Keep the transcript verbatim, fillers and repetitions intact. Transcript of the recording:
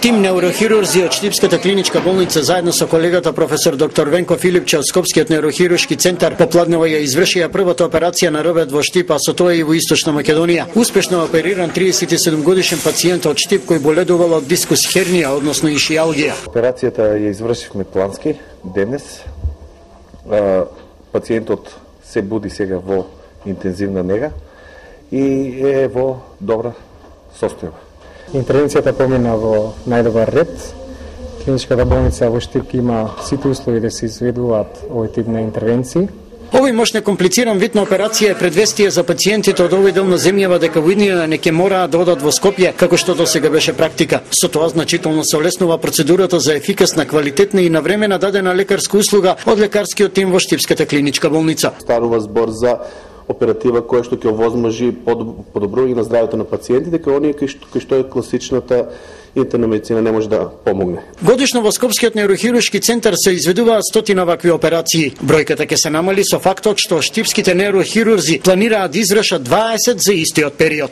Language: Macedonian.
Тим неурохирурзи од Штипската клиничка болница заедно со колегата професор доктор Венко Филипче од Скопскиот неурохируршки центар попладнево ја извршија првата операција на робет во Штип, а со тоа и во Источна Македонија. Успешно опериран триесет и седум годишен пациент од Штип кој боледувал од дискус хернија, односно ишијалгија. Операцијата ја извршивме плански денес. Пациентот се буди сега во интензивна нега и е во добра состојба. Интервенцијата помина во најдобар ред. Клиничката болница во Штип има сите услови да се изведуваат овој тип на интервенции. Овој мощно комплициран вид на операција е предвестие за пациентите од овој дел на земјава дека во иднина не ќе мораат да одат во Скопје, како што досега беше практика. Со тоа значително се олеснува процедурата за ефикасна, квалитетна и навремена дадена лекарска услуга од лекарскиот тим во Штипската клиничка болница. Станува збор за оператива која што ќе овозможи подобрување на здравјето на пациентите, дека оние кои што, кои што е класичната интерна медицина не може да помогне. Годишно во Скопскиот неурохируршки центар се изведуваат стотина вакви операции. Бројката ќе се намали со фактот што штипските неурохирурзи планираат да извршат дваесет за истиот период.